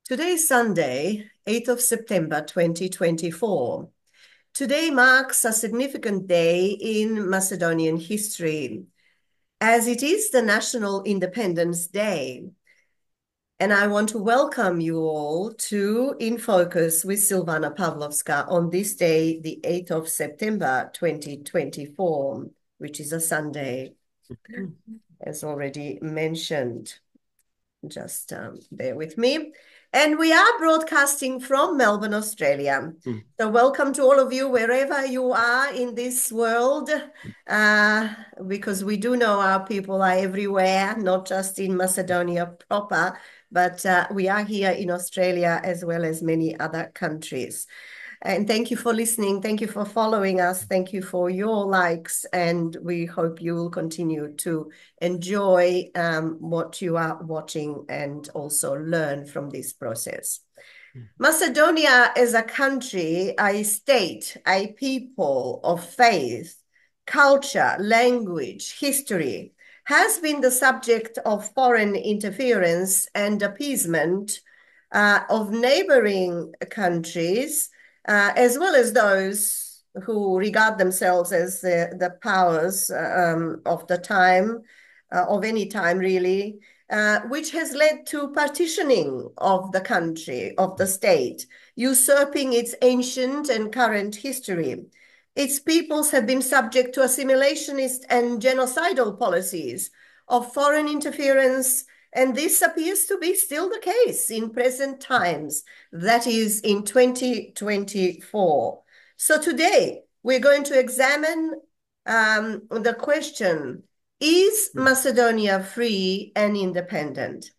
Today is Sunday, 8th of September 2024. Today marks a significant day in Macedonian history, as it is the National Independence Day. And I want to welcome you all to In Focus with Silvana Pavlovska on this day, the 8th of September 2024, which is a Sunday, as already mentioned. Just bear with me. And we are broadcasting from Melbourne, Australia. So welcome to all of you, wherever you are in this world, because we do know our people are everywhere, not just in Macedonia proper, but we are here in Australia as well as many other countries. And thank you for listening. Thank you for following us. Thank you for your likes. And we hope you will continue to enjoy what you are watching and also learn from this process. Macedonia is a country, a state, a people of faith, culture, language, history, has been the subject of foreign interference and appeasement of neighboring countries, as well as those who regard themselves as the powers of the time, of any time really, which has led to partitioning of the country, of the state, usurping its ancient and current history. Its peoples have been subject to assimilationist and genocidal policies of foreign interference, and this appears to be still the case in present times, that is in 2024. So today we're going to examine the question, is Macedonia free and independent?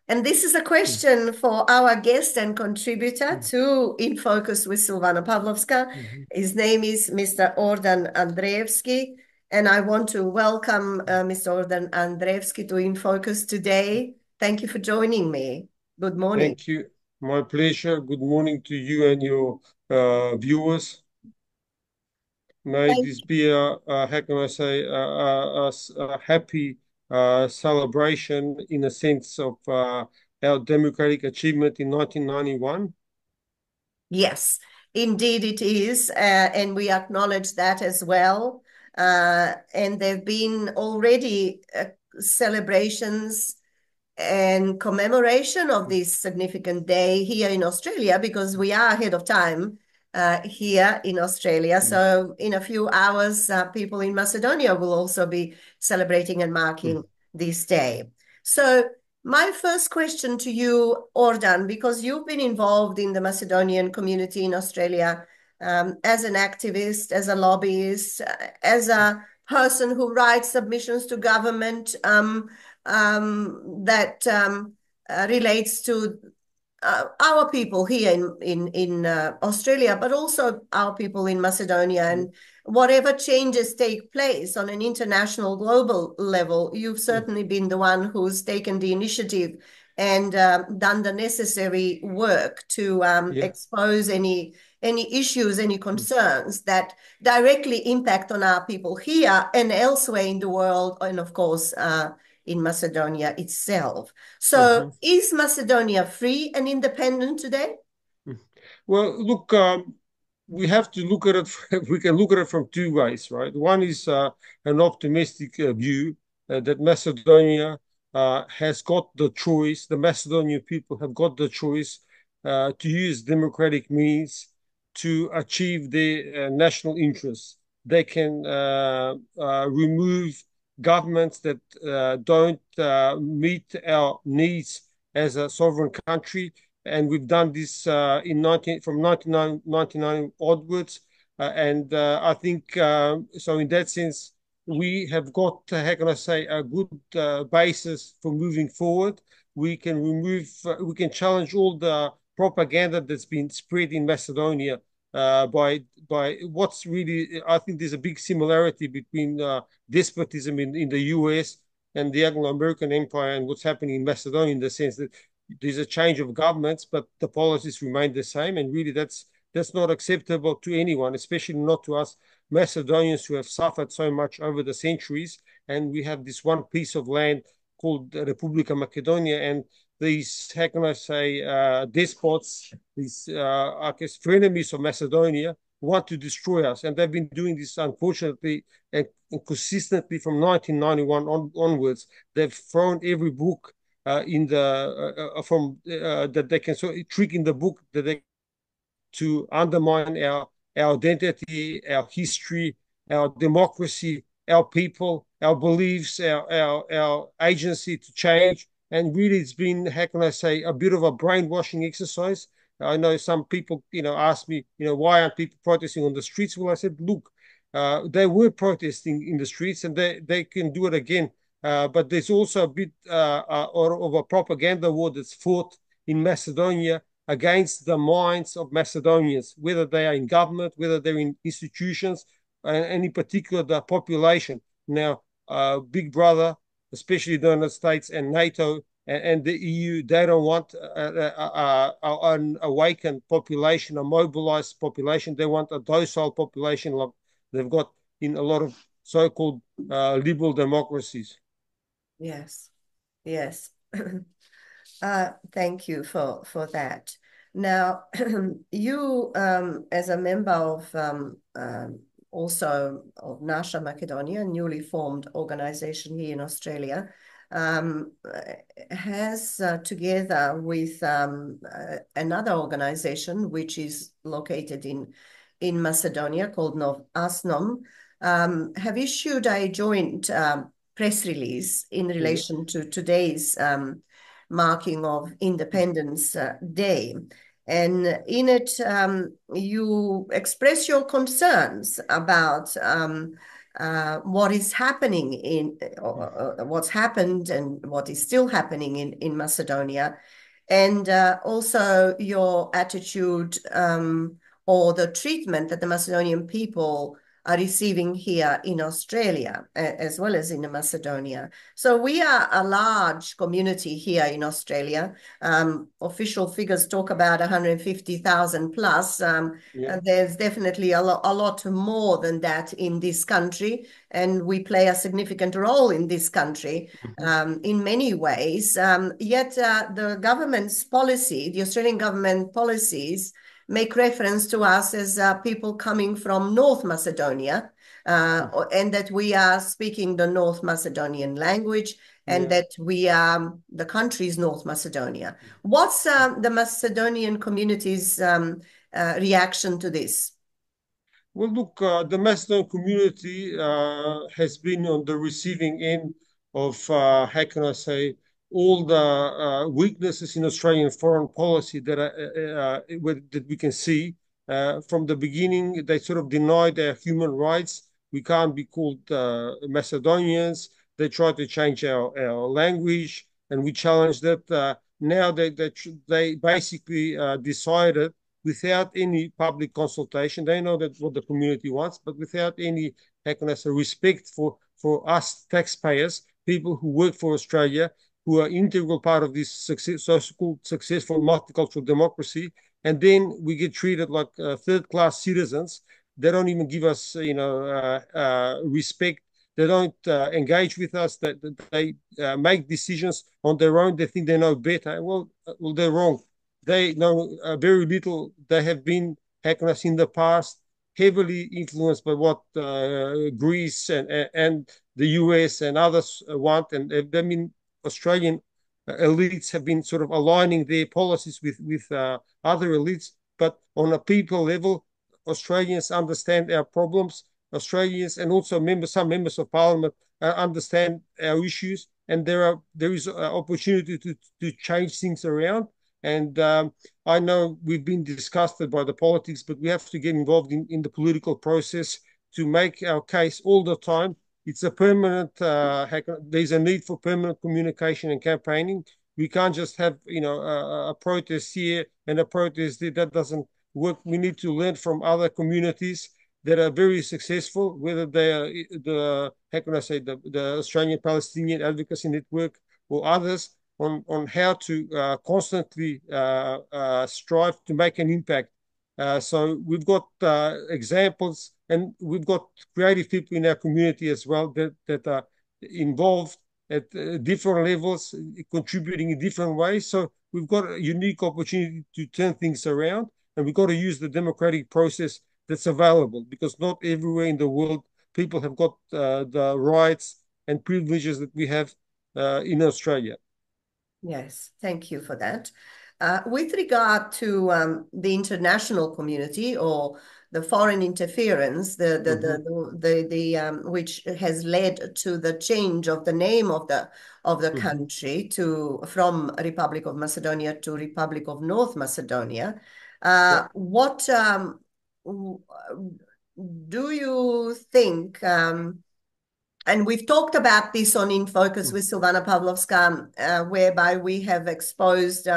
And this is a question for our guest and contributor to In Focus with Silvana Pavlovska. His name is Mr. Ordan Andreevski. And I want to welcome Mr. Ordan Andreevski to In Focus today. Thank you for joining me. Good morning. Thank you. My pleasure. Good morning to you and your viewers. May this be how can I say, a happy celebration in a sense of our democratic achievement in 1991. Yes, indeed it is. And we acknowledge that as well. And there have been already celebrations and commemoration of this significant day here in Australia, because we are ahead of time here in Australia. So in a few hours, people in Macedonia will also be celebrating and marking this day. So my first question to you, Ordan, because you've been involved in the Macedonian community in Australia as an activist, as a lobbyist, as a person who writes submissions to government that relates to our people here in Australia, but also our people in Macedonia. And whatever changes take place on an international, global level, you've certainly been the one who's taken the initiative and done the necessary work to expose any issues, any concerns that directly impact on our people here and elsewhere in the world, and of course, in Macedonia itself. So is Macedonia free and independent today? Well, look, we have to look at it, we can look at it from two ways, right? One is an optimistic view that Macedonia has got the choice, the Macedonian people have got the choice to use democratic means to achieve their national interests. They can remove governments that don't meet our needs as a sovereign country, and we've done this from 1999 onwards, and I think so. In that sense, we have got, how can I say, a good basis for moving forward. We can we can challenge all the propaganda that's been spread in Macedonia by what's really, I think there's a big similarity between despotism in the US and the Anglo-American Empire and what's happening in Macedonia, in the sense that there's a change of governments, but the policies remain the same. And really that's not acceptable to anyone, especially not to us Macedonians who have suffered so much over the centuries. And we have this one piece of land called Republika Macedonia, and these, how can I say, despots, these, I guess, frenemies of Macedonia want to destroy us. And they've been doing this, unfortunately, and consistently from 1991 onwards. They've thrown every book in the from that they can trick in the book that they to undermine our identity, our history, our democracy, our people, our beliefs, our agency to change. And really, it's been, how can I say, a bit of a brainwashing exercise. I know some people, ask me, why aren't people protesting on the streets? Well, I said, look, they were protesting in the streets, and they can do it again. But there's also a bit of a propaganda war that's fought in Macedonia against the minds of Macedonians, whether they are in government, whether they're in institutions, and in particular the population. Now, Big Brother, especially the United States and NATO and the EU, they don't want an awakened population, a mobilized population. They want a docile population like they've got in a lot of so-called liberal democracies. Yes, yes. Thank you for that. Now, you, as a member of also of Nasha Macedonia, a newly formed organization here in Australia, has together with another organization which is located in Macedonia called ASNOM, have issued a joint press release in relation to today's marking of Independence Day. And in it, you express your concerns about what is happening what's happened and what is still happening in Macedonia, and also your attitude or the treatment that the Macedonian people are receiving here in Australia, as well as in Macedonia. So we are a large community here in Australia. Official figures talk about 150,000 plus. There's definitely a lot more than that in this country, and we play a significant role in this country in many ways. Yet the government's policy, the Australian government policies, make reference to us as people coming from North Macedonia, and that we are speaking the North Macedonian language, and that we are the country's North Macedonia. What's the Macedonian community's reaction to this? Well, look, the Macedonian community has been on the receiving end of, how can I say, all the weaknesses in Australian foreign policy that we can see. From the beginning, they sort of denied our human rights. We can't be called Macedonians. They tried to change our language, and we challenged it. Now they basically decided, without any public consultation, they know that what the community wants, but without any, how can I say, respect for us taxpayers, people who work for Australia, who are integral part of this so-called successful multicultural democracy, and then we get treated like third-class citizens. They don't even give us, respect. They don't engage with us. They make decisions on their own. They think they know better. Well, they're wrong. They know very little. They have been, how can I say, in the past, heavily influenced by what Greece and the US and others want. And I mean, Australian elites have been sort of aligning their policies with other elites. But on a people level, Australians understand our problems. Australians and also some members of parliament understand our issues. And there is an opportunity to change things around. And I know we've been disgusted by the politics, but we have to get involved in the political process to make our case all the time. It's a permanent, there's a need for permanent communication and campaigning. We can't just have, a protest here and a protest there. That doesn't work. We need to learn from other communities that are very successful, whether they are the Australian Palestinian Advocacy Network or others, on how to constantly strive to make an impact. So we've got examples, and we've got creative people in our community as well that are involved at different levels, contributing in different ways. So we've got a unique opportunity to turn things around, and we've got to use the democratic process that's available, because not everywhere in the world people have got the rights and privileges that we have in Australia. Yes, thank you for that. With regard to the international community or the foreign interference, which has led to the change of the name of the country from Republic of Macedonia to Republic of North Macedonia, what do you think? And we've talked about this on In Focus with Silvana Pavlovska, whereby we have exposed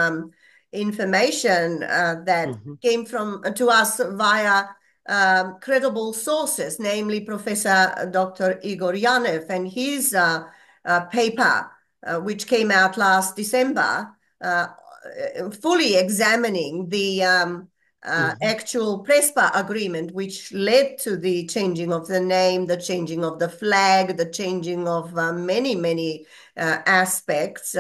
information that came to us via credible sources, namely Professor Dr. Igor Yanev and his paper, which came out last December, fully examining the actual Prespa agreement, which led to the changing of the name, the changing of the flag, the changing of many aspects.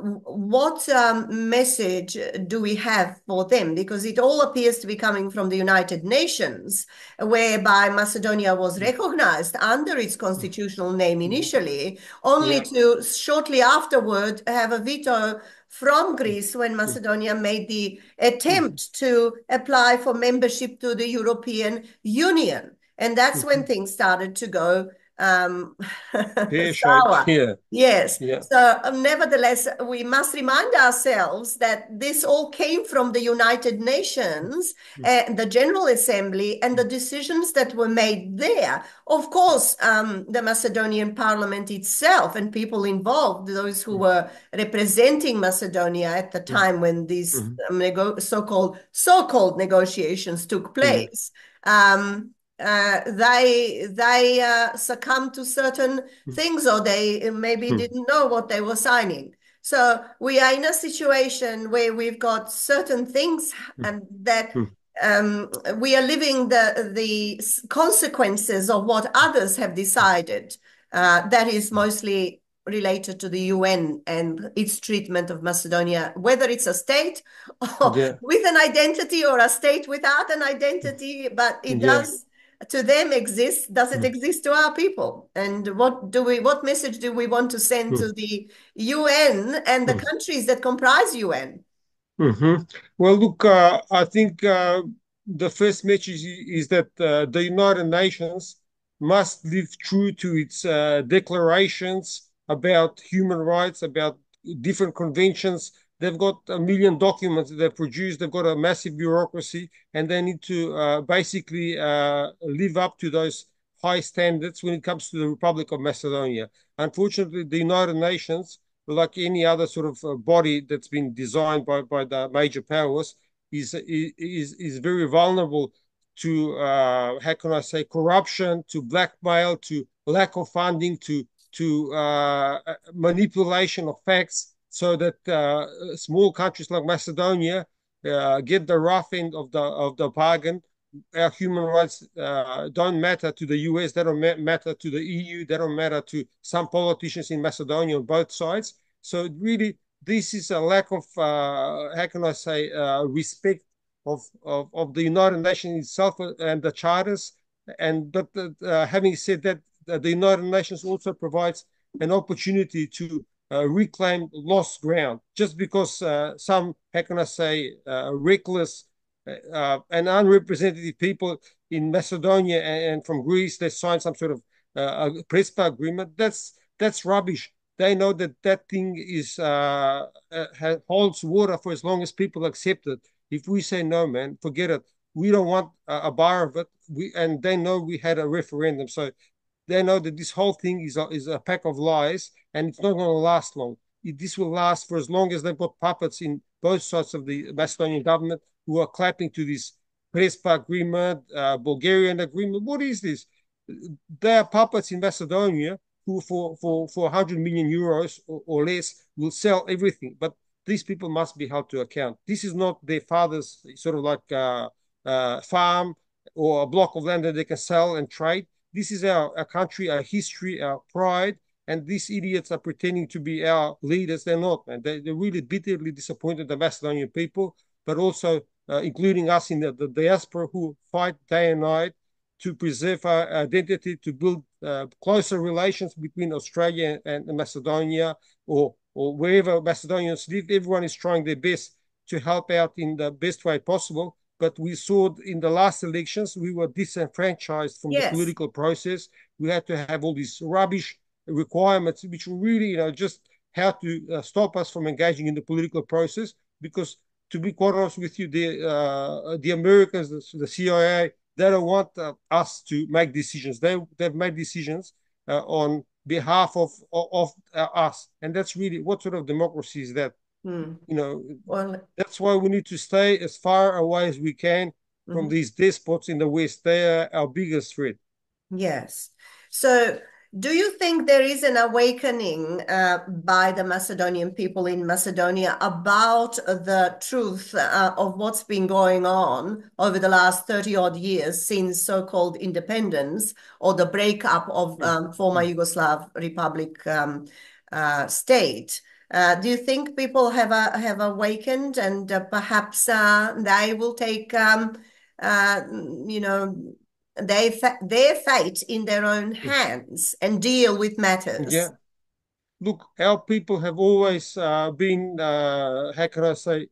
What message do we have for them? Because it all appears to be coming from the United Nations, whereby Macedonia was recognized under its constitutional name initially, only to shortly afterward have a veto from Greece when Macedonia made the attempt to apply for membership to the European Union. And that's when things started to go sour. Yes. So nevertheless, we must remind ourselves that this all came from the United Nations and the General Assembly and the decisions that were made there. Of course, the Macedonian parliament itself and people involved, those who were representing Macedonia at the time when these so-called negotiations took place, they succumbed to certain things, or they maybe didn't know what they were signing. So we are in a situation where we've got certain things and that we are living the consequences of what others have decided. That is mostly related to the UN and its treatment of Macedonia, whether it's a state with an identity or a state without an identity, but it does to them exist. Does it exist to our people? And what message do we want to send to the UN and the countries that comprise UN? Well, look, I think the first message is that the United Nations must live true to its declarations about human rights, about different conventions. They've got 1 million documents that they've produced. They've got a massive bureaucracy, and they need to basically live up to those high standards when it comes to the Republic of Macedonia. Unfortunately, the United Nations, like any other sort of body that's been designed by the major powers, is very vulnerable to how can I say, corruption, to blackmail, to lack of funding, to manipulation of facts, so that small countries like Macedonia get the rough end of the bargain. Our human rights don't matter to the US, they don't matter to the EU, they don't matter to some politicians in Macedonia on both sides. So really, this is a lack of, how can I say, respect of the United Nations itself and the charters. But having said that, the United Nations also provides an opportunity to reclaim lost ground. Just because some, how can I say, reckless and unrepresentative people in Macedonia and from Greece, they signed some sort of Prespa agreement, that's rubbish. They know that thing holds water for as long as people accept it. If we say no, man, forget it. We don't want a bar of it. And they know we had a referendum, so they know that this whole thing is a pack of lies, and it's not going to last long. This will last for as long as they've got puppets in both sides of the Macedonian government who are clapping to this Prespa agreement, Bulgarian agreement. What is this? They are puppets in Macedonia who for 100 million euros or less will sell everything. But these people must be held to account. This is not their father's sort of like farm or a block of land that they can sell and trade. This is our country, our history, our pride, and these idiots are pretending to be our leaders. They're not, man. They're really bitterly disappointed, the Macedonian people, but also including us in the diaspora, who fight day and night to preserve our identity, to build closer relations between Australia and Macedonia, or wherever Macedonians live. Everyone is trying their best to help out in the best way possible. But we saw in the last elections, we were disenfranchised from the political process. We had to have all these rubbish requirements, which really, just how to stop us from engaging in the political process. Because to be quite honest with you, the Americans, the CIA, they don't want us to make decisions. They've made decisions on behalf of us, and that's really, what sort of democracy is that? Well, that's why we need to stay as far away as we can from these despots in the West. They are our biggest threat. Yes. So do you think there is an awakening by the Macedonian people in Macedonia about the truth of what's been going on over the last 30-odd years since so-called independence, or the breakup of former Yugoslav Republic state? Do you think people have awakened, and perhaps they will take, their fate in their own hands and deal with matters? Yeah. Look, our people have always been, how can I say,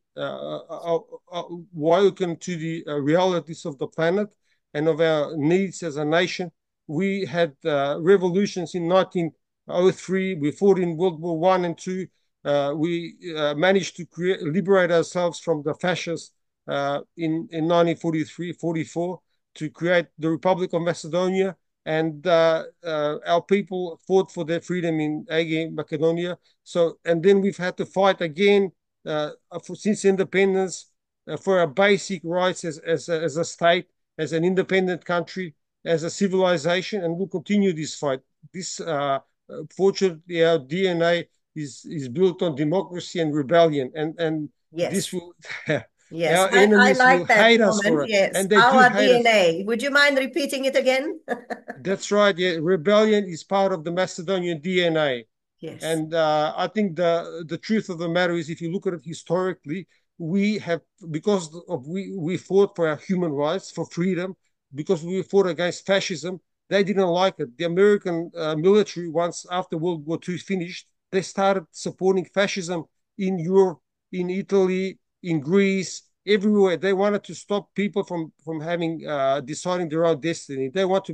woken to the realities of the planet and of our needs as a nation. We had revolutions in 1903. We fought in World War I and II. We managed to liberate ourselves from the fascists in 1943-44 to create the Republic of Macedonia. And our people fought for their freedom in Aegean Macedonia. So, and then we've had to fight again since independence for our basic rights as a state, as an independent country, as a civilization, and we'll continue this fight. This, fortunately, our DNA is built on democracy and rebellion, and yes. This will. Yes, our enemies I like will that hate comment. us for it. Yes, and they our do hate DNA. us. Would you mind repeating it again? That's right. Yeah, rebellion is part of the Macedonian DNA. Yes. And I think the truth of the matter is, if you look at it historically, we have, because of we fought for our human rights, for freedom, because we fought against fascism. They didn't like it. The American military, once after World War II finished, they started supporting fascism in Europe, in Italy, in Greece, everywhere. They wanted to stop people from having deciding their own destiny. They want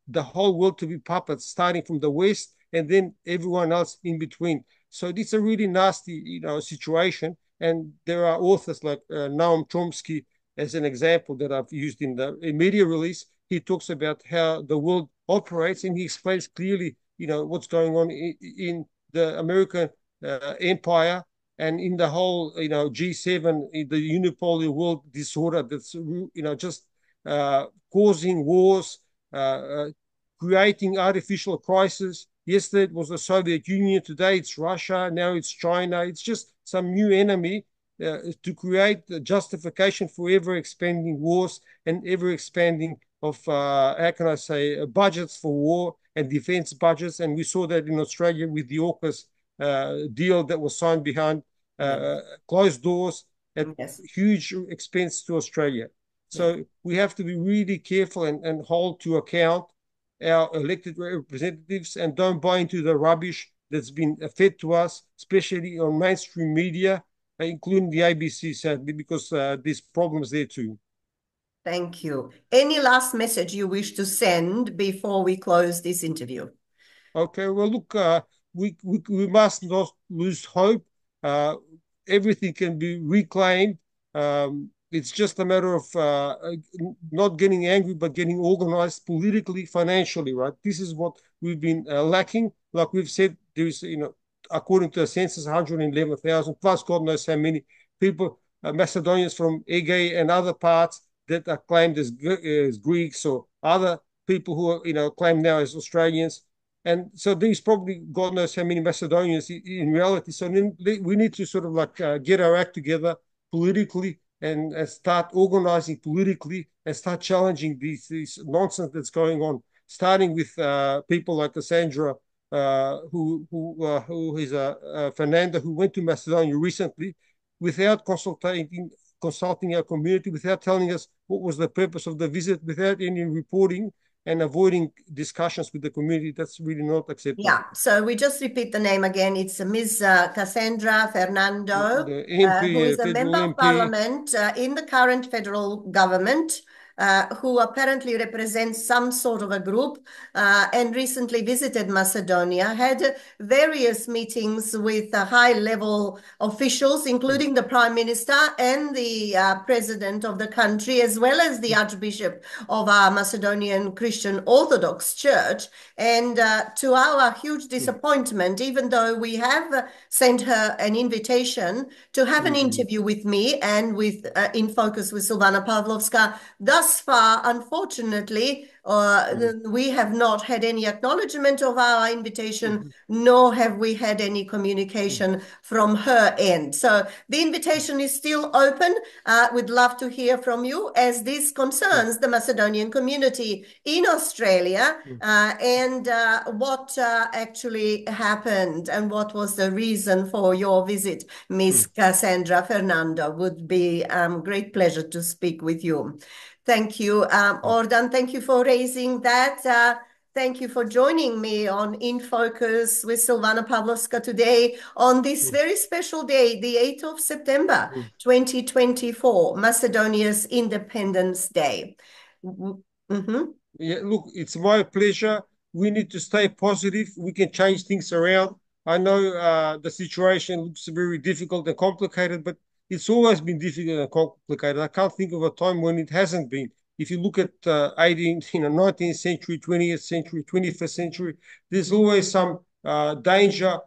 the whole world to be puppets, starting from the West and then everyone else in between. So it's a really nasty, situation. And there are authors like Noam Chomsky, as an example, that I've used in the media release. He talks about how the world operates, and he explains clearly, what's going on in the American empire, and in the whole, G7, the unipolar world disorder that's, just causing wars, creating artificial crisis. Yesterday it was the Soviet Union, today it's Russia, now it's China. It's just some new enemy to create the justification for ever-expanding wars and ever-expanding of, how can I say, budgets for war and defense budgets. And we saw that in Australia with the AUKUS deal that was signed behind closed doors at huge expense to Australia. So we have to be really careful and hold to account our elected representatives, and don't buy into the rubbish that's been fed to us, especially on mainstream media, including the ABC, sadly, because there's problems there too. Thank you. Any last message you wish to send before we close this interview? Okay, well, look, we must not lose hope. Everything can be reclaimed. It's just a matter of not getting angry, but getting organized politically, financially, right? This is what we've been lacking. Like we've said, there's, according to the census, 111,000 plus God knows how many people, Macedonians from Aegean and other parts that are claimed as Greeks, or other people who are, claimed now as Australians. And so there's probably God knows how many Macedonians in reality. So we need to sort of like get our act together politically, and start organizing politically, and start challenging this nonsense that's going on, starting with people like Cassandra who is Fernanda, who went to Macedonia recently without consulting our community, without telling us what was the purpose of the visit, without any reporting, and avoiding discussions with the community. That's really not acceptable. Yeah, so we just repeat the name again. It's Ms. Cassandra Fernando, The MP, who is a federal member of MP. parliament in the current federal government, who apparently represents some sort of a group, and recently visited Macedonia, had various meetings with high-level officials, including the Prime Minister and the President of the country, as well as the Archbishop of our Macedonian Christian Orthodox Church. And to our huge disappointment, even though we have sent her an invitation to have an interview with me and with In Focus with Silvana Pavlovska, thus far, unfortunately, we have not had any acknowledgement of our invitation, nor have we had any communication from her end. So the invitation is still open. We'd love to hear from you, as this concerns the Macedonian community in Australia, and what actually happened and what was the reason for your visit. Miss Cassandra Fernando, would be great pleasure to speak with you. Thank you, Ordan. Thank you for raising that. Thank you for joining me on In Focus with Silvana Pavlovska today on this very special day, the 8th of September, 2024, Macedonia's Independence Day. Yeah, look, it's my pleasure. We need to stay positive. We can change things around. I know the situation looks very difficult and complicated, but it's always been difficult and complicated. I can't think of a time when it hasn't been. If you look at 19th century, 20th century, 21st century, there's always some danger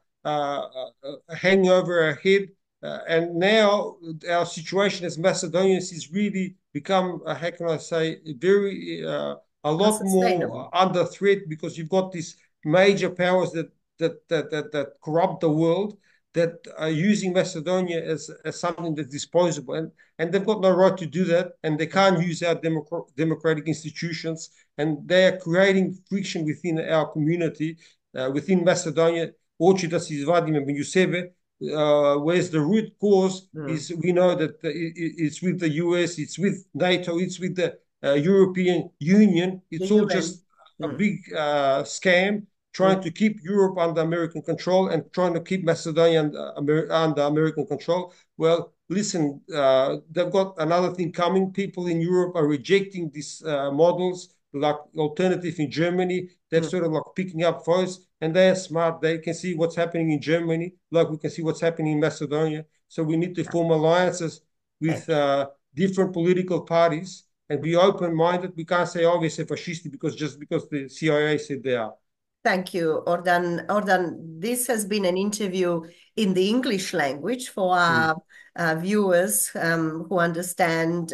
hanging over our head. And now our situation as Macedonians is really become, how can I say, very a lot more under threat, because you've got these major powers that corrupt the world, that are using Macedonia as something that's disposable. And they've got no right to do that, and they can't use our democratic institutions, and they are creating friction within our community, within Macedonia. Oči da se izvadimo među sebe, whereas the root cause is, we know that it's with the US, it's with NATO, it's with the European Union. It's all just a big scam, trying to keep Europe under American control and trying to keep Macedonia under American control. Well, listen, they've got another thing coming. People in Europe are rejecting these models, like Alternative in Germany. They're sort of like picking up votes, and they're smart. They can see what's happening in Germany, like we can see what's happening in Macedonia. So we need to form alliances with different political parties and be open-minded. We can't say, oh, we're fascist just because the CIA said they are. Thank you, Ordan. Ordan, this has been an interview in the English language for our viewers who understand,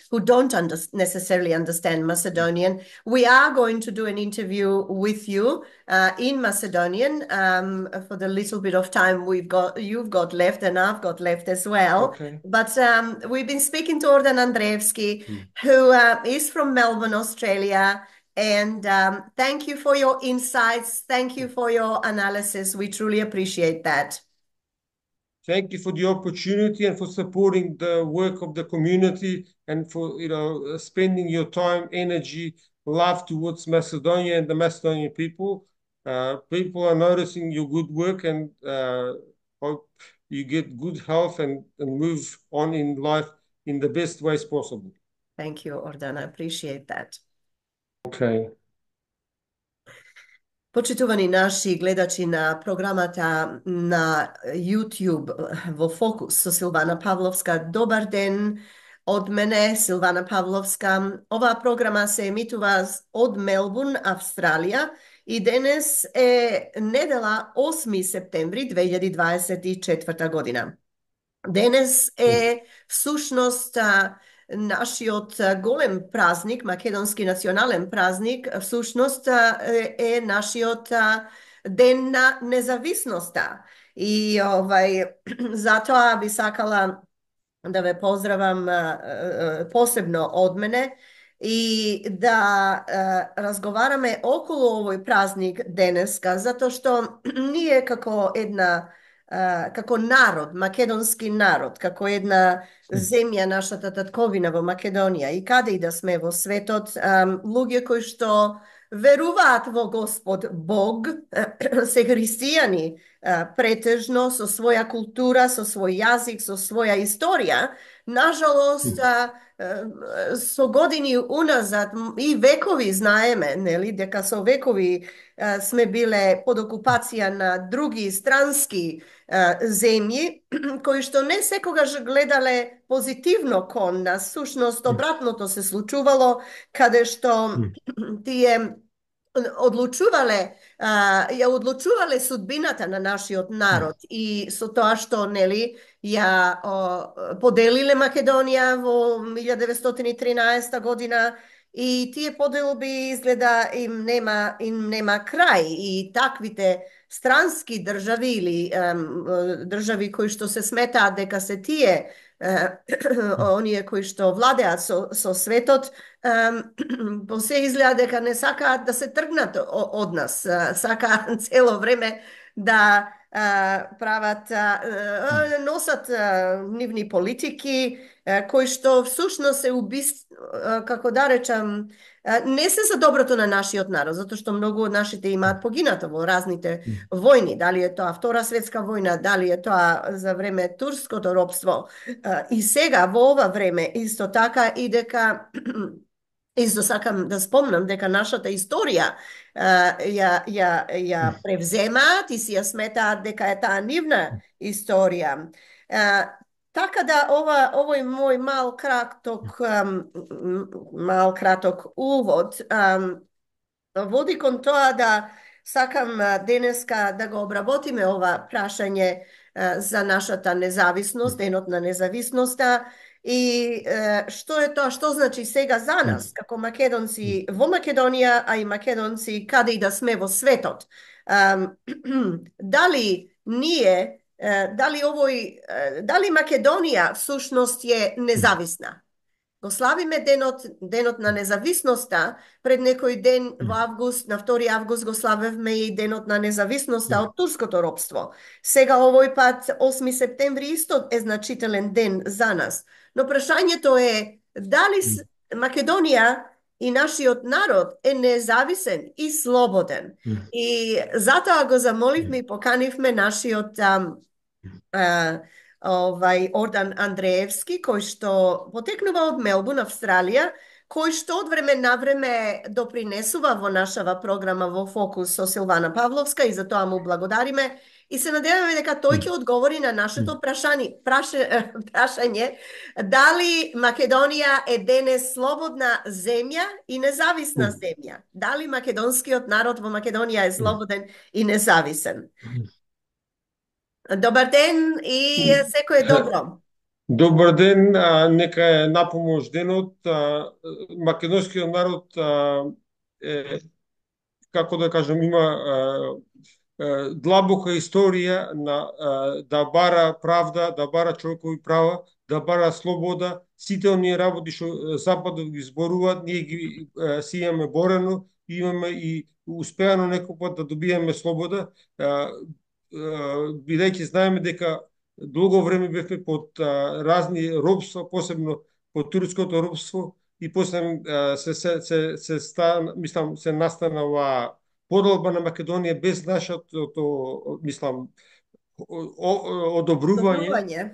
who don't necessarily understand Macedonian. We are going to do an interview with you in Macedonian for the little bit of time you've got left, and I've got left as well. Okay. But we've been speaking to Ordan Andreevski, who is from Melbourne, Australia. And thank you for your insights. Thank you for your analysis. We truly appreciate that. Thank you for the opportunity and for supporting the work of the community, and for spending your time, energy, love towards Macedonia and the Macedonian people. People are noticing your good work, and hope you get good health and move on in life in the best ways possible. Thank you, Ordan. I appreciate that. Okay. Почитувани наши гледачи на програмата на YouTube во Фокус со Силвана Павловска, добар ден од мене, Силвана Павловска. Оваа програма се емитува од Мелбурн, Австралија, и денес е недела 8 септември 2024 година. Денес е всушност нашиот голем празник, македонски национален празник, всушност е нашиот ден на независноста. И затоа би сакала да ве поздравам посебно од мене и да разговараме околу овој празник денеска, затоа што ние како народ, македонски народ, како една земја, нашата татковина во Македонија и каде и да сме во светот, луѓе кои што веруваат во Господ Бог, се христијани претежно, со своја култура, со свој јазик, со своја историја, нажалост, со години уназад и векови знаеме, нели, дека со векови сме биле под окупација на други странски земји, кои што не секогаш гледале позитивно кон нас. Сушност, обратното се случувало, каде што тие одлучувале судбината на нашиот народ и со тоа што нели ја поделиле Македонија во 1913 година и тие поделби изгледа им нема крај и таквите странски држави или држави кои што се сметаат дека се тие оние кои што владеат со светот, по се изгледа дека не сакаат да се тргнат од нас, сакаат цело време да прават, носат нивни политики, кои што всушност се како да речам, не се за доброто на нашиот народ, затоа што многу од нашите имаат погинато во разните војни, дали е тоа Втора светска војна, дали е тоа за време турското робство, и сега во ова време исто така, и дека исто сакам да спомнам дека нашата историја ја превземаат и си ја сметаат дека е таа нивна историја. Така да овој мој мал краток увод води кон тоа да сакам денеска да го обработиме ова прашање за нашата независност, денот на независноста, и што е тоа, што значи сега за нас, како македонци во Македонија, а и македонци каде и да сме во светот. Дали ние, дали Македонија всушност е независна? Го славиме денот на независноста, пред некој ден во август, на 2 август го славевме и денот на независноста од турското робство. Сега овој пат 8 септември исто е значителен ден за нас. Но прашањето е дали Македонија и нашиот народ е независен и слободен. И затоа го замоливме и поканивме нашиот Ордан Андреевски, кој што потекнува од Мелбурн, Австралија, кој што од време на време допринесува во нашава програма во Фокус со Силвана Павловска и за тоа му благодариме и се надеваме дека тој ќе одговори на нашето прашање дали Македонија е денес слободна земја и независна земја. Дали македонскиот народ во Македонија е слободен и независен. Добар ден и секој добро. Добар ден, нека е напомош денот. Македонскиот народ како да кажам, има длабока историја да бара правда, да бара човекови права, да бара слобода. Сите оние работи што Западот ги зборуваат, ние ги си имаме борено, имаме и успеано некој пат да добиеме слобода, бидејќи знаеме дека долго време бевме под разни робства, посебно под турското робство, и после се настана оваа поделба на Македонија без нашето, одобрување.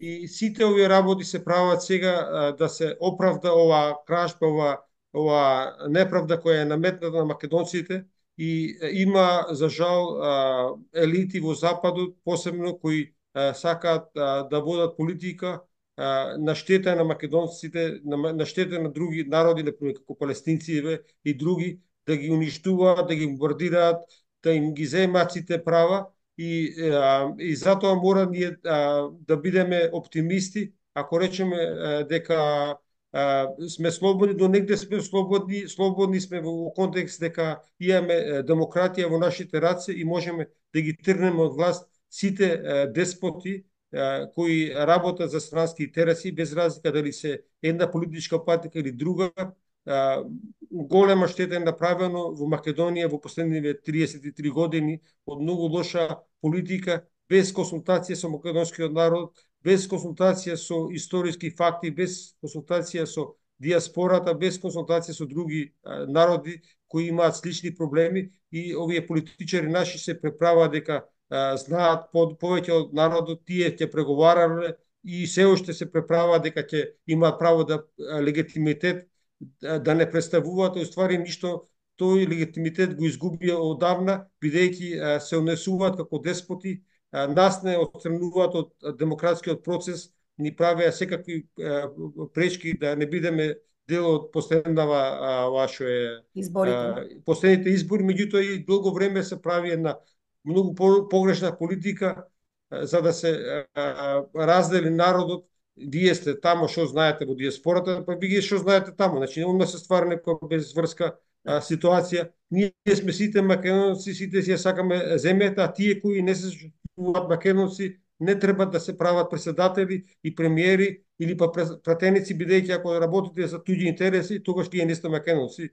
И сите овие работи се прават сега да се оправда оваа кражба, оваа неправда која е наметната на македонците. И има, за жал, елити во Западот, посебно кои сакаат да водат политика на штета на македонците, на штета на други народи, например како палестинци и други, да ги уништуваат, да ги бомбардираат, да им ги земаат сите права, и затоа мора ние да бидеме оптимисти, ако речеме дека сме слободни, до негде сме слободни сме во контекст дека имаме демократија во нашите раце и можеме да ги тргнеме од власт сите деспоти кои работат за странски интереси, без разлика дали се една политичка партија или друга, голема штета е направено во Македонија во последниве 33 години од многу лоша политика, без консултација со македонскиот народ, без консултација со историски факти, без консултација со диаспората, без консултација со други народи кои имаат слични проблеми, и овие политичари наши се преправаат дека знаат повеќе од народот, тие ќе преговарале и се уште се преправаат дека ќе имаат право да легитимитет да не представуваат, уствари ништо, тој легитимитет го изгубија одавна, бидејќи се унесуваат како деспоти, нас не отстрануваат од демократскиот процес, ни правеа секакви пречки да не бидеме дел од последната што е Изборите. последните избори, меѓутоа и долго време се прави една многу погрешна политика за да се раздели народот. Вие сте тамо, што знаете во диаспората, па вие што знаете тамо. Значи, одма се ствара некоја безврска ситуација. Ние сме сите македонци, сите си ја сакаме земјата, а тие кои не се чувствуваат македонци не треба да се прават председатели и премиери или па пратеници, бидејќи ако работите за туѓи интереси, тогаш тие не сте македонци.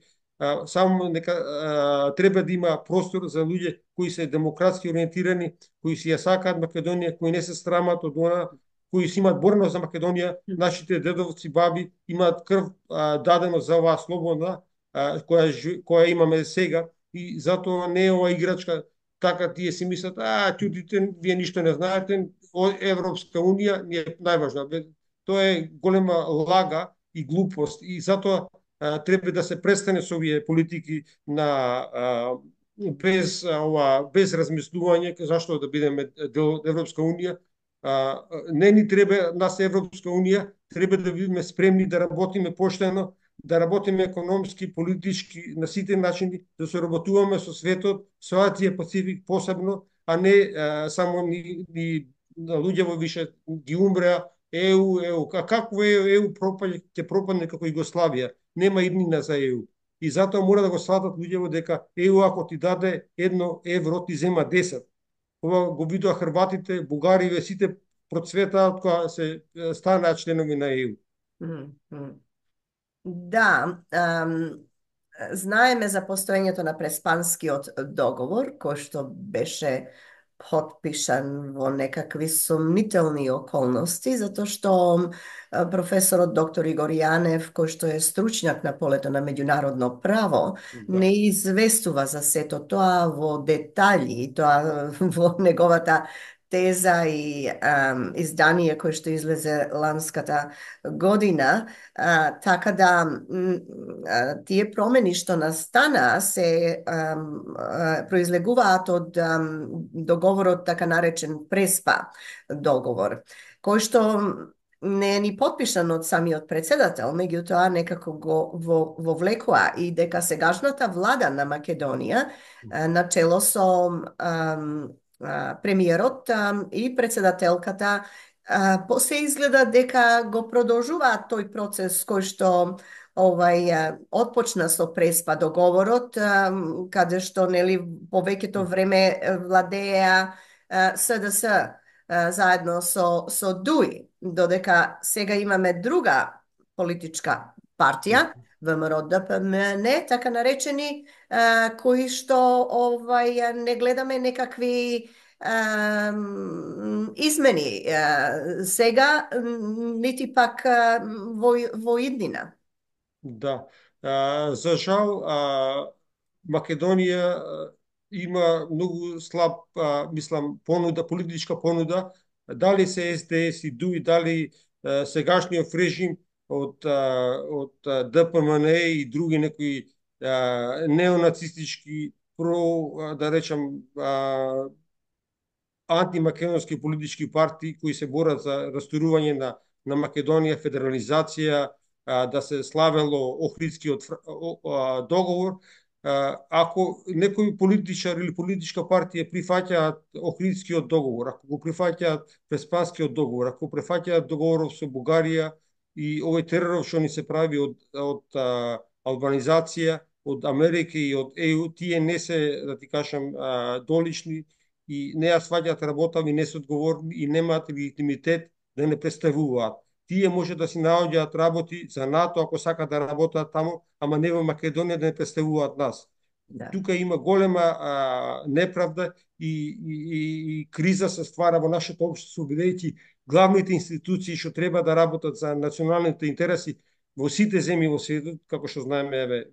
Само нека треба да има простор за луѓе кои се демократски ориентирани, кои си ја сакаат Македонија, кои не се срамат од она, кои си имаат борност за Македонија. Нашите дедовци, баби имаат крв дадено за оваа слобода која имаме сега, и затоа не е ова играчка така тие си мислат, чудите, вие ништо не знаете, Европска Унија ни е најважна. Тоа е голема лага и глупост, и затоа треба да се престане со овие политики на без размислување зашто да бидеме дел од Европска Унија. Не ни треба нас Европска Унија, треба да бидеме спремни да работиме поштено, да работиме економски, политички, на сите начини, да се работуваме со светот, со Азија Пацифик посебно, а не само ни луѓево више ги умреа ЕУ. Како ЕУ пропаѓа, ќе пропадне како Југославија, нема иднина за ЕУ. И затоа мора да го сватат луѓево дека ЕУ ако ти даде 1 евро, ти зема 10. Ова го видоа хрватите, бугариве, сите процветаат кога се станаат членови на ЕУ. Да, знаеме за постоењето на Преспанскиот договор, кој што беше потпишан во некакви сомнителни околности, затоа што професорот доктор Игор Јанев, кој што е стручњак на полето на меѓународно право, не известува за сето тоа во детали, тоа во неговата теза и издание кој што излезе ланската година, така да тие промени што настана се произлегуваат од договорот така наречен Преспа договор, кој што не е ни подпишан од самиот председател, меѓутоа некако го вовлекоа и дека сегашната влада на Македонија начело со премиерот и председателката се изгледа дека го продолжуваат тој процес кој што отпочна со Преспа договорот, каде што нели повеќето време владеа СДС заедно со ДУИ, додека сега имаме друга политичка партија, ВМРО-ДПМН, така наречени, кои што не гледаме некакви измени сега, нити пак во иднина. Да. За жал, Македонија има многу слаб, мислам, понуда, политичка понуда. Дали се СДС и ДУИ, дали сегашниот режим од ДПМН и други некои неонацистички, да речам, антимакедонски политички партии кои се борат за растурување на Македонија, федерализација, да се славело Охридскиот договор. Ако некој политичар или политичка партија прифаќаат Охридскиот договор, ако го прифаќаат Преспанскиот договор, ако прифаќаат договоров со Бугарија и овој тероров што ни се прави од албанизација, од Америка и од ЕУ, тие не се, да ти кажам, долични и не ја сваќаат работа и не се одговорни и немаат легитимитет да не представуваат. тие може да си наоѓаат работи за НАТО ако сакаат да работат таму, ама не во Македонија да не представуваат нас. Да. Тука има голема неправда и криза се ствара во нашето општество, бидејќи главните институции што треба да работат за националните интереси во сите земји во светот, како што знаеме, еве,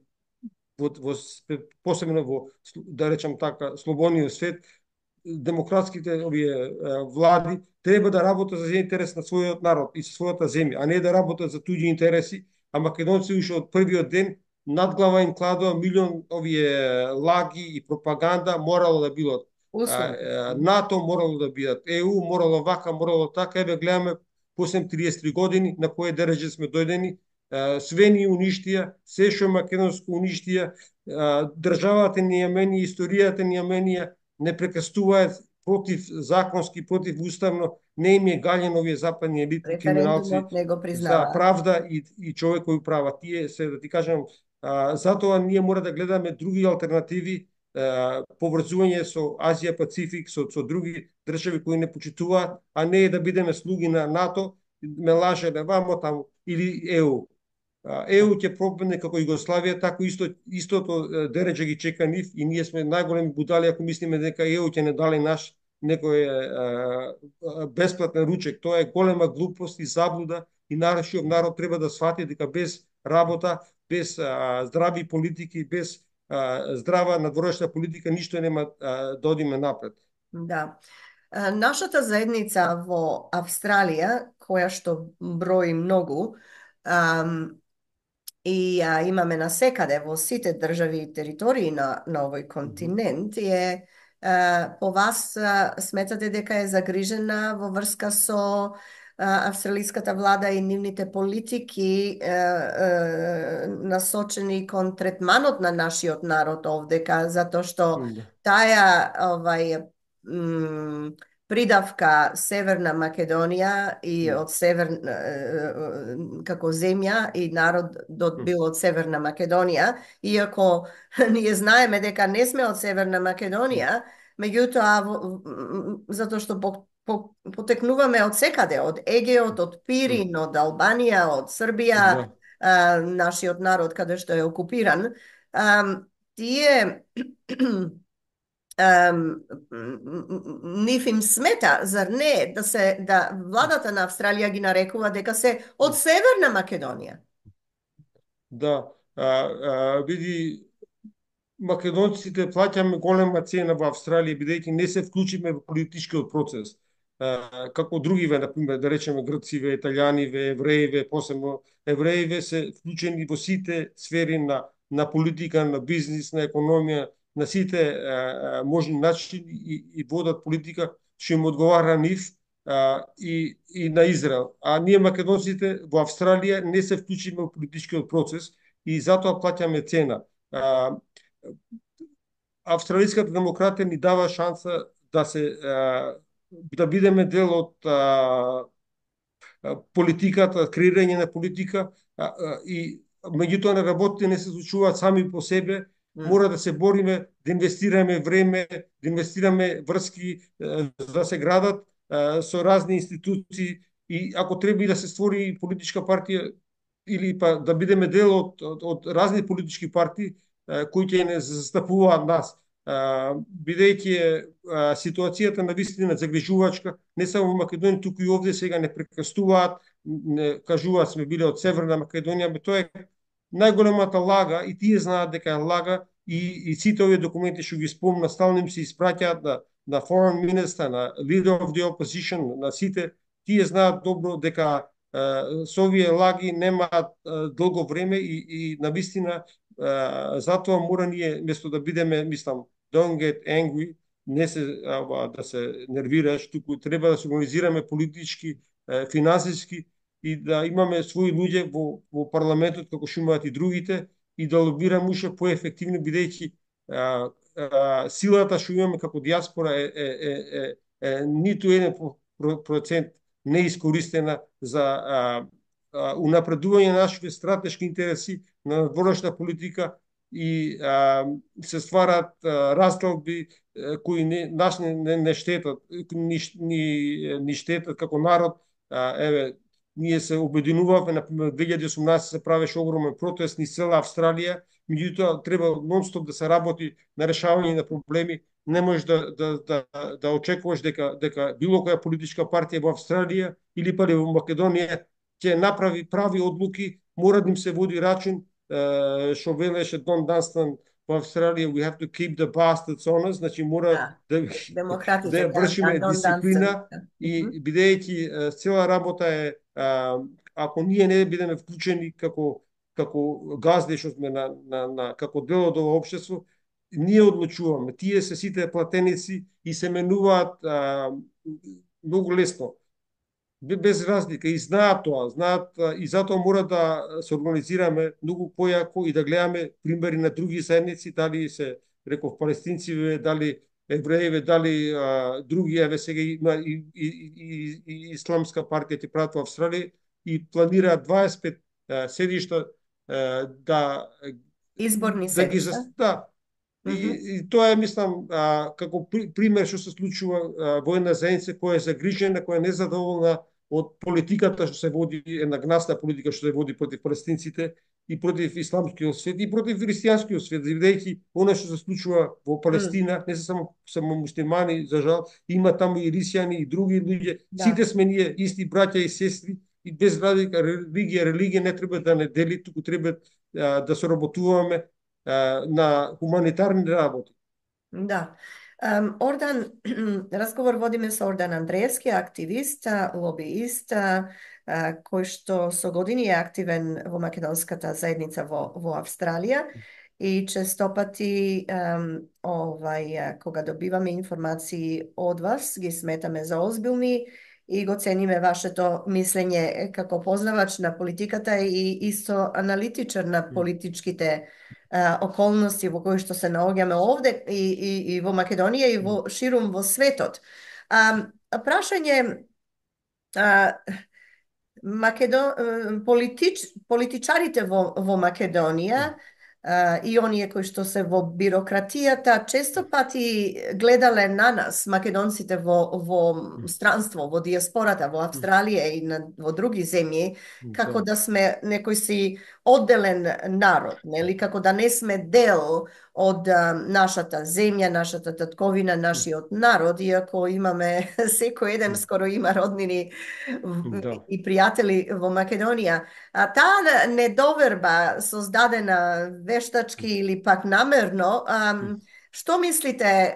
посебно во, да речам така, слободниот свет, демократските овие влади треба да работат за интерес на својот народ и својата земја, а не да работат за туѓи интереси, а македонци уште од првиот ден над глава им кладува милион овие лаги и пропаганда, морало да бидат НАТО, морало да бидат ЕУ, морало вака, морало така, еве гледаме после 33 години на кое дереже сме дојдени, све ни уништија, се што македонско уништија, државата ни ја мени, историјата ни ја менија, не прекастуваат против законски, против уставно, не им е гален овие западни елити, криминалци за правда и човекови права. Тие се, да ти кажам, затоа ние мора да гледаме други алтернативи, поврзување со Азија Пацифик, со други држави кои не почитуваат, а не да бидеме слуги на НАТО, ме лаже вамо таму, или ЕУ. ЕУ ќе пропадне како Југославија, така истото дереđe ги чека нив и ние сме најголеми будали ако мислиме дека ЕУ ќе не дали наш некој бесплатен ручек. Тоа е голема глупост и заблуда и нашиот народ треба да свати дека без работа, без здрави политики, без здрава надворешна политика ништо нема да одиме напред. Да. Нашата заедница во Австралија, која што брои многу, и имаме насекаде во сите држави и територии на овој континент, по вас сметате дека е загрижена во врска со австралиската влада и нивните политики насочени кон третманот на нашиот народ овдека, затоа што таа придавка Северна Македонија и од како земја и народот бил од Северна Македонија, иако ние знаеме дека не сме од Северна Македонија, меѓутоа затоа што потекнуваме од секаде, од Егеот, од Пирин, од Албанија, од Србија, нашиот народ каде што е окупиран, тие нив им смета, зар не, да владата на Австралија ги нарекува дека се од Северна Македонија? Да, види, македонците плаќаме голема цена во Австралија бидејќи не се вклучиме во политичкиот процес. Како другиве, например, да речеме грциве, италијаниве, евреиве, посебно евреиве се вклучени во сите сфери на политика, на бизнис, на економија, на сите можни начини и водат политика што им одговара нив и на Израел. А ние македонците во Австралија не се вклучиме во политичкиот процес и затоа плаќаме цена. Австралиската демократија ни дава шанса да бидеме дел од политиката, креирање на политика и меѓутоа на работите не се случуваат сами по себе. Мора да се бориме, да инвестираме време, да инвестираме врски, да се градат со разни институции и ако треба и да се створи политичка партија или па да бидеме дел од разни политички партии кои ќе не застапуваат нас. Бидејќи ситуацијата на вистина загрижувачка, не само во Македонија, туку и овде сега не прекастуваат, не кажуваат сме биле од Северна Македонија, тоа е најголемата лага и тие знаат дека е лага и сите овие документи што ги спомна стално им се испраќаат на foreign minister, на leader of the opposition, на сите, тие знаат добро дека со овие лаги немаат долго време и на вистина затоа мора ние место да бидеме, мислам, don't get angry, не се да се нервираш, туку треба да се организираме политички, финансиски и да имаме своји луѓе во парламентот како што имаат и другите и да лобираме уште поефективно бидејќи силата што имаме како диаспора е ниту 1% неискористена за унапредување на нашите стратешки интереси, на надворешна политика и се стварат разделби кои не штетат, ни штетат како народ. Еве, ние се обединувавме, например, 2018 се правеше огромен протест низ цела Австралија, меѓутоа треба нонстоп да се работи на решавање на проблеми. Не можеш да очекуваш дека било која политичка партија во Австралија или па во Македонија ќе направи прави одлуки, мора да им се води рачун, што велеше Дон Данстан во Австралија, we have to keep the bastards honest, значи мора Да, да демократите, вршиме Дон Дансен. дисциплина и бидејќи цела работа е ако ние не бидеме вклучени како газди што сме како дел од ова општество, ние одлучуваме. Тие се сите платеници и се менуваат многу лесно без разлика и знаат тоа, и затоа мора да се организираме многу појако и да гледаме примери на други заедници, дали се реков палестинци, дали евреи, дали други, еве сега има и исламска партија ќе прават во Австралија и планираат 25 седишта да Изборни ги седишта. да. И тоа е, мислам, како пример што се случува во една заедница која е загрижена, која е незадоволна од политиката што се води, една гнасна политика што се води против палестинците и против исламскиот свет и против христијанскиот свет, бидејќи она што се случува во Палестина не се само муслимани, за жал, има таму и рисјани и други луѓе, сите сме ние исти браќа и сестри и без разлика религија не треба да не дели, туку треба да соработуваме на хуманитарни работи. Да. Ордан, разговор водиме со Ордан Андреевски, активист, лобиист, кој што со години е активен во македонската заедница во Австралија и честопати кога добиваме информации од вас, ги сметаме за озбилни и го цениме вашето мислење како познавач на политиката и исто аналитичар на политичките околности во кои што се наоѓаме овде и во Македонија и во ширум во светот. Прашање политичарите во Македонија и оние кои што се во бирократијата често пати гледале на нас, македонците во странство, во диаспората, во Австралија и во други земји, како да сме некој си одделен народ, нели, како да не сме дел од нашата земја, нашата татковина, нашиот народ, иако имаме секој еден скоро има роднини и пријатели во Македонија. Таа недоверба создадена вештачки или пак намерно, што мислите,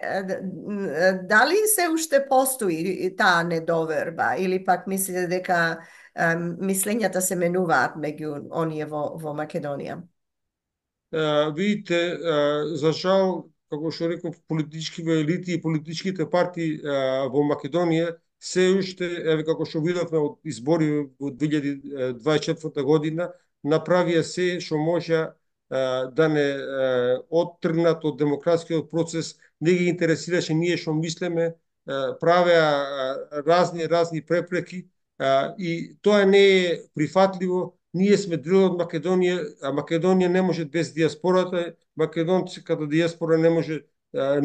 дали се уште постои таа недоверба или пак мислите дека мислењата се менуваат меѓу оние во Македонија? Видите, за жал, како што реков, политичките елити и политичките партии во Македонија се уште, еве како што видовме од избори во 2024 година, направија се што може да не оттргнат од демократскиот процес, не ги интересираше ние што мислеме, правеа разни препреки и тоа не е прифатливо. Ние сме дел од Македонија, а Македонија не може без диаспората, македонската диаспора не може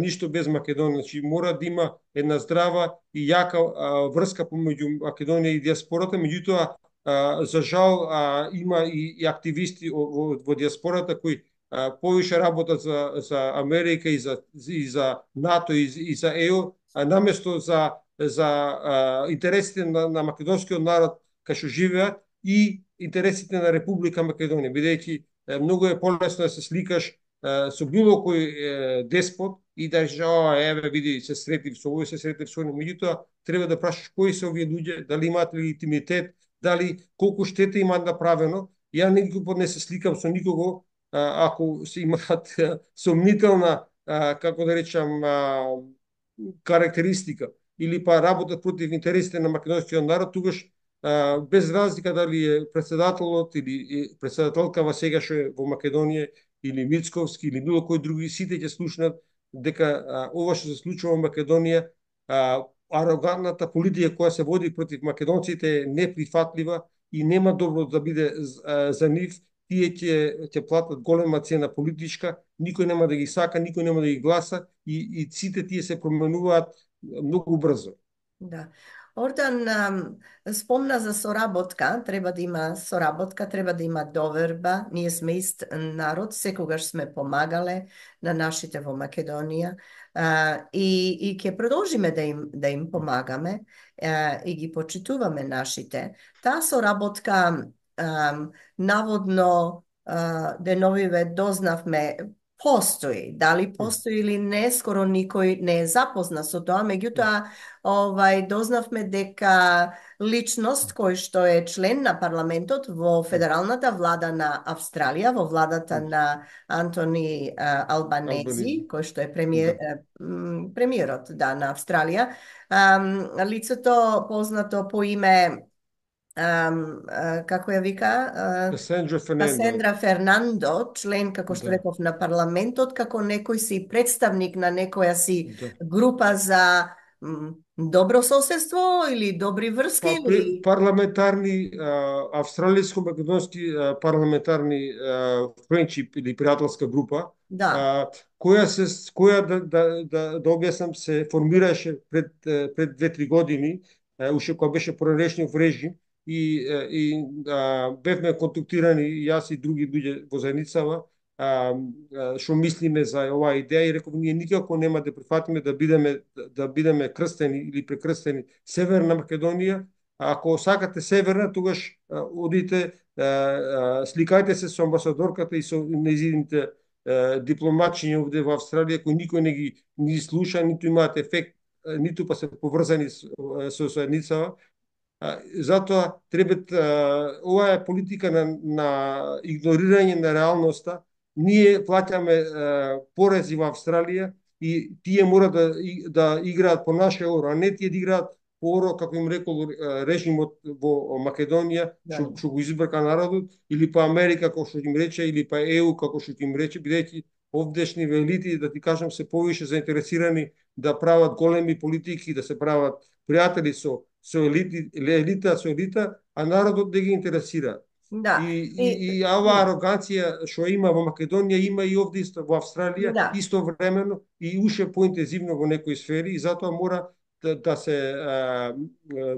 ништо без Македонија. Значи мора да има една здрава и јака врска помеѓу Македонија и диаспората, меѓутоа за жал има и активисти во диаспората кои повише работат за Америка и за НАТО и за ЕУ, наместо за интересите на македонскиот народ кај што живеат и интересите на Република Македонија, бидејќи многу е полесно да се сликаш со било кој деспот и да речеш, еве види, се сретив со овој, се сретив со оној, меѓутоа треба да прашаш кои се овие луѓе, дали имаат легитимитет, дали колку штета имаат направено. Ја никога не се сликам со никого ако се имаат сомнителна, како да речам, карактеристика или па работат против интересите на македонскиот народ, тогаш без разлика дали е председателот или председателкава сега што е во Македонија или Мицковски или било кој други, сите ќе слушнат дека ова што се случува во Македонија, арогантната политика која се води против македонците е неприфатлива и нема добро да биде за нив. Тие ќе платат голема цена политичка, никој нема да ги сака, никој нема да ги гласа и сите тие се променуваат многу брзо. Да. Ордан спомна за соработка, треба да има соработка, треба да има доверба. Ние сме ист народ, секогаш сме помагале на нашите во Македонија и ќе продолжиме да им помагаме и ги почитуваме нашите. Таа соработка наводно деновиве дознавме постои. Дали постои или не, скоро никој не е запознат со тоа, меѓутоа дознавме дека личност кој што е член на парламентот во федералната влада на Австралија, во владата на Антони Албанези, Албанези. кој што е Да. премиерот на Австралија, лицето познато по име како ја вика? Касендра Фернандо. Касендра Фернандо, член, како што Да. реков, на парламентот, како некој си представник на некоја си Да. група за добро соседство или добри врски или... Парламентарни, австралиско-македонски парламентарни френдшип или пријателска група, Да, која да објаснам се формираше пред 2-3 години, уште кога беше Поранешниот режим и бевме контактирани јас и други луѓе во заедницава, што мислиме за оваа идеја и реков ние никако нема да прифатиме да бидеме крстени или прекрстени Северна Македонија. Ако сакате Северна, тогаш одите, сликајте се со амбасадорката и со незините дипломатчиња овде во Австралија, кои никој не ги слуша, ниту имаат ефект, ниту па се поврзани со заедницава. Затоа треба, ова е политика на игнорирање на реалноста. Ние плаќаме порези во Австралија и тие мора да играат по наше оро, а не тие да играат по оро, како им рекол режимот во Македонија, што го избрка народот, или па Америка, како што им рече, или па ЕУ, како што им рече, бидејќи овдешни елити, да ти кажам, се повише заинтересирани да прават големи политики, да се прават пријатели со елита, а народот не ги интересира. да. И оваа ароганција што има во Македонија, има и овде исто во Австралија, Да. истовремено и уште поинтензивно во некои сфери, и затоа мора да се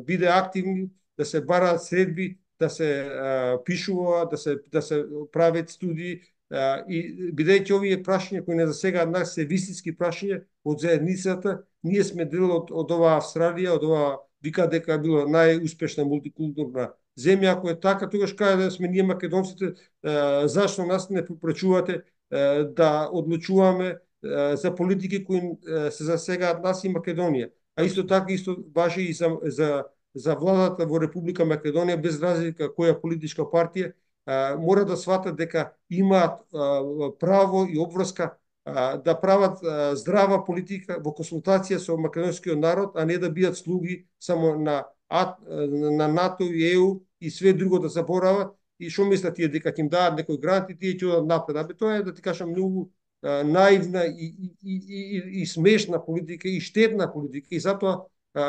биде активни, да се бараат средби, да се пишува, да се прават студии, и бидејќи овие прашања кои не засегаат нас се вистински прашања од заедницата, ние сме дел од оваа Австралија, од оваа вика дека било најуспешна мултикултурна земја. Ако е така, тогаш каде да сме ние македонците, зашто нас не попречувате да одлучуваме за политики кои се засегаат нас и Македонија. А исто така исто важи и за владата во Република Македонија, без разлика која политичка партија, мора да сватат дека имаат право и обврска да прават здрава политика во консултација со македонскиот народ, а не да бидат слуги само на НАТО и ЕУ и све друго да заборават. И што мислат тие, дека ќе им дадат некој грант и тие ќе одат напред? Тоа е, да ти кажам, многу наивна и смешна политика и штетна политика, и затоа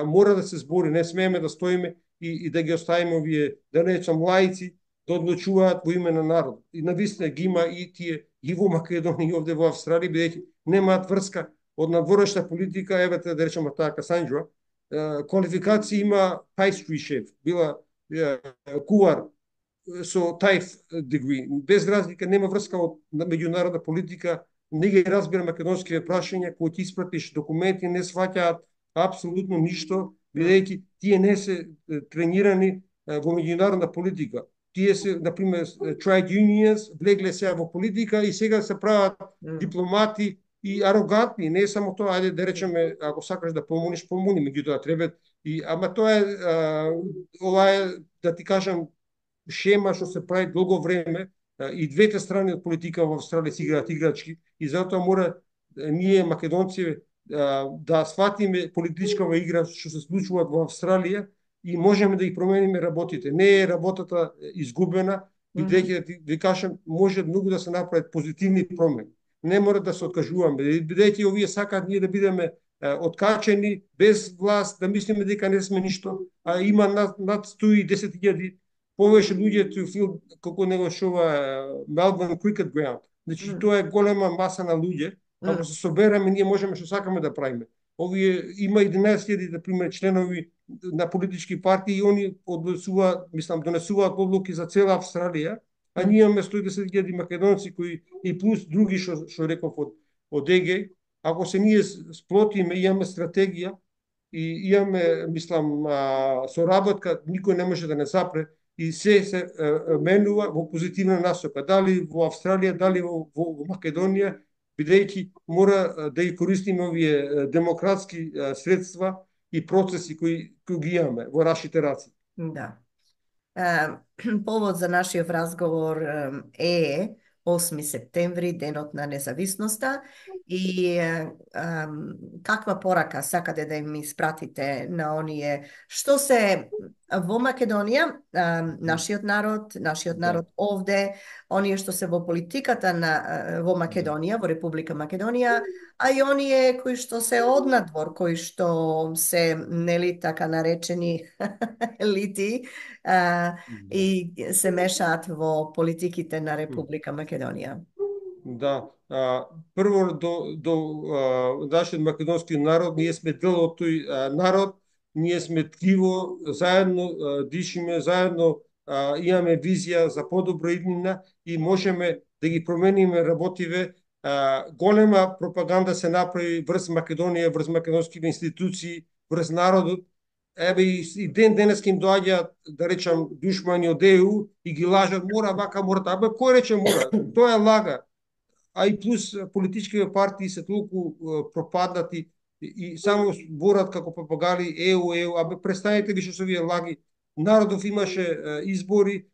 мора да се збори, не смееме да стоиме и да ги оставиме овие, да не речам, лаици да одлучуваат во име на народ. И навистина ги има и тие и во Македонија и овде во Австралија, бидејќи немаат врска од надворешна политика. Еве да речеме таа Касанџа, квалификација има pastry chef, била кувар со тајф degree, без разлика, нема врска од меѓународна политика, не ги разбира македонските прашања, кои ти испратиш документи, не сваќаат апсолутно ништо, бидејќи тие не се тренирани во меѓународна политика. Тие се, например, trade unions, влегле сега во политика и сега се прават дипломати и арогантни. Не е само тоа, ајде да речеме, ако сакаш да помогнеш, помогни, меѓутоа треба ама тоа е, ова е, да ти кажам, шема што се прави долго време, и двете страни од политика во Австралија си играат играчки, и затоа мора ние македонци да сватиме политичкава игра што се случува во Австралија и можеме да ги промениме работите. Не е работата изгубена, бидејќи да ви кажам, може многу да се направат позитивни промени. Не мора да се откажуваме, бидејќи овие сакаат ние да бидеме откачени, без власт, да мислиме дека не сме ништо, а има над 110.000 повеќе луѓе to feel, како него шова Melbourne Cricket Ground. Значи, тоа е голема маса на луѓе. Ако се собереме, ние можеме што сакаме да правиме. Овие има 11.000 на пример членови на политички партии и они однесуваат, мислам, донесуваат одлуки за цела Австралија, а ние имаме 110.000 македонци кои и плюс други што реков од ЕГ. Ако се ние сплотиме, имаме стратегија и имаме, мислам, соработка, никој не може да не запре и се менува во позитивна насока. Дали во Австралија, дали во Македонија, бидејќи мора да ги користиме овие демократски средства и процеси кои ги имаме во нашите раци. Да. Повод за нашиот разговор е 8 септември, денот на независноста, и каква порака сакате да им испратите на оние што се во Македонија, нашиот народ овде, оние што се во политиката во Македонија, во Република Македонија, а и оние кои што се однадвор, кои што се, нели, така наречени елити, и се мешаат во политиките на Република Македонија. Да, прво до нашиот македонски народ, ние сме дел од тој народ, ние сме ткиво, заедно дишиме, заедно имаме визија за подобра иднина и можеме да ги промениме работиве. Голема пропаганда се направи врз Македонија, врз македонските институции, врз народот. Еве и денес им доаѓаат, да речам, душмани од ЕУ и ги лажат, мора вака, мора така. Кој рече мора? Тоа е лага. А и плюс политичките партии се толку пропаднати и само борат како папагали ЕУ. Престанете више со овие лаги. Народов имаше избори,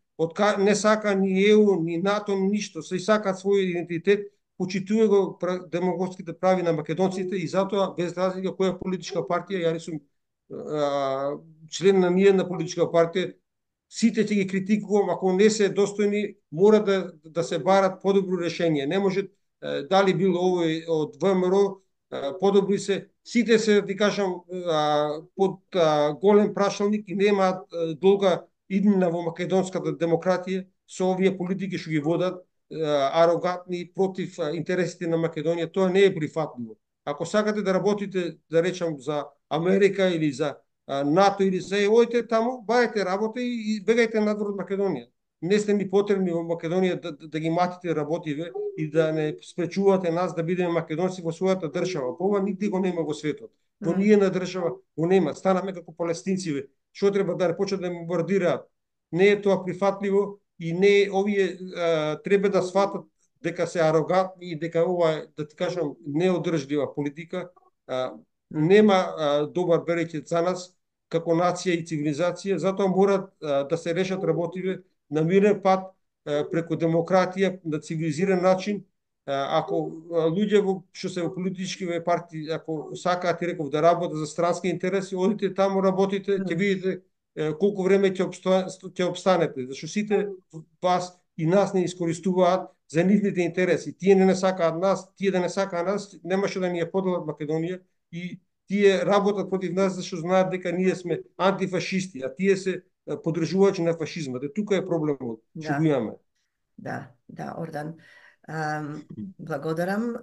не сака ни ЕУ, ни НАТО, ни ништо. Се сакаат свој идентитет, почитува го демократските прави на македонците и затоа, без разлика која политичка партија, ја сум член на ниедна политичка партија, сите ќе ги критикувам, ако не се достојни, мора да се барат подобро решение. Не може, дали било овој од ВМРО, подобри се, сите се, да ти кажам, под голем прашалник и немаат долга иднина во македонската демократија со овие политики што ги водат, арогантни против интересите на Македонија. Тоа не е прифатливо. Ако сакате да работите, да речам, за Америка или за НАТО или за ојте таму, бајте работа и бегајте надвор од Македонија. Не сте ни потребни во Македонија да ги матите работиве и да не спречувате нас да бидеме македонци во својата држава. Ова нигде го нема во светот. Во ниедна држава го нема. Станаме како палестинци. Што треба да почнат да бомбардираат? Не е тоа прифатливо и не овие треба да сватат дека се арогантни и дека ова, да ти кажам, неодржлива политика, нема добар береќет за нас како нација и цивилизација, затоа мора да се решат работиве на мирен пат, преку демократија, на цивилизиран начин. Ако луѓе што се во политички партии, ако сакаат, и реков, да работат за странски интереси, одите таму, работите, ќе видите колку време ќе обстанете, зашто сите вас и нас не искористуваат за нивните интереси. Тие не сакаат нас, тие да не сакаат нас, немаше да ни ја поделат Македонија и тие работат против нас зашто знаат дека ние сме антифашисти, а тие се поддржувачи на фашизмот. Тука е проблемот, што го имаме. Да, Ордан. Благодарам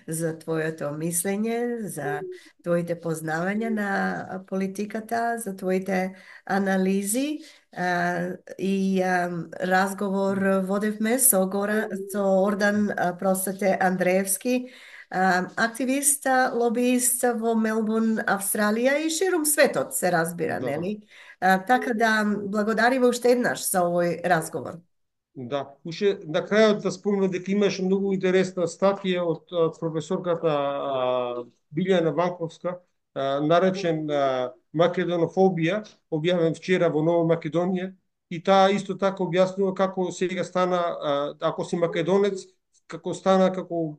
за твоето мислење, за твоите познавања на политиката, за твоите анализи и разговор водевме со Ордан Андреевски, активист, лобиист во Мелбурн, Австралија и ширум светот, се разбира, нели? Така да благодариме уште еднаш за овој разговор. Да, уште на крајот да спомнам дека имаше многу интересна статија од професорката Билјана Ванковска, наречен Македонофобија, објавен вчера во Нова Македонија, и таа исто така објаснува како сега стана, ако си македонец, како стана како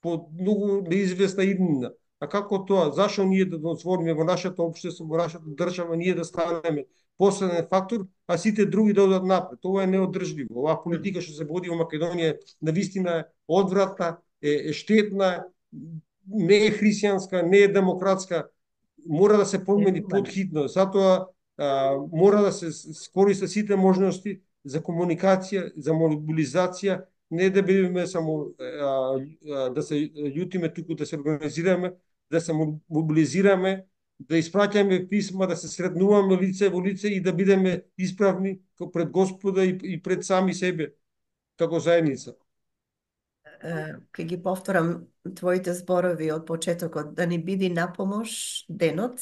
по многу неизвестна иднина. А како тоа? Зашо ние да дозволиме во нашето општество, во нашата држава, ние да станеме последен фактор, а сите други да одат напред? Ова е неодржливо. Оваа политика што се води во Македонија навистина е одвратна, е штетна, не е христијанска, не е демократска. Мора да се промени подхитно. Затоа мора да се скористат сите можности за комуникација, за мобилизација, не да бидеме само да се љутиме, туку да се организираме, да се мобилизираме, да испраќаме писма, да се сретнуваме лице во лице и да бидеме исправни пред Господа и пред сами себе, како заедница. Ке ги повторам твоите зборови од почетокот, да ни биди напомош денот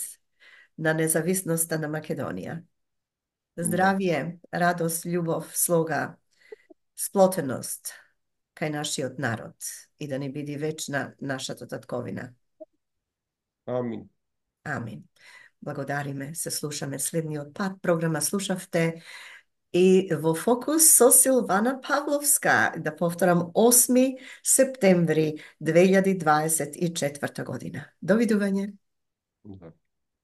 на независноста на Македонија. Здравие, радост, љубов, слога, сплотеност кај нашиот народ и да ни биди вечна нашата татковина. Амин. Амин. Благодариме, се слушаме следниот пат. Програма слушавте и во фокус со Силвана Павловска. Да повторам, 8 септември 2024 година. Довидување. Да.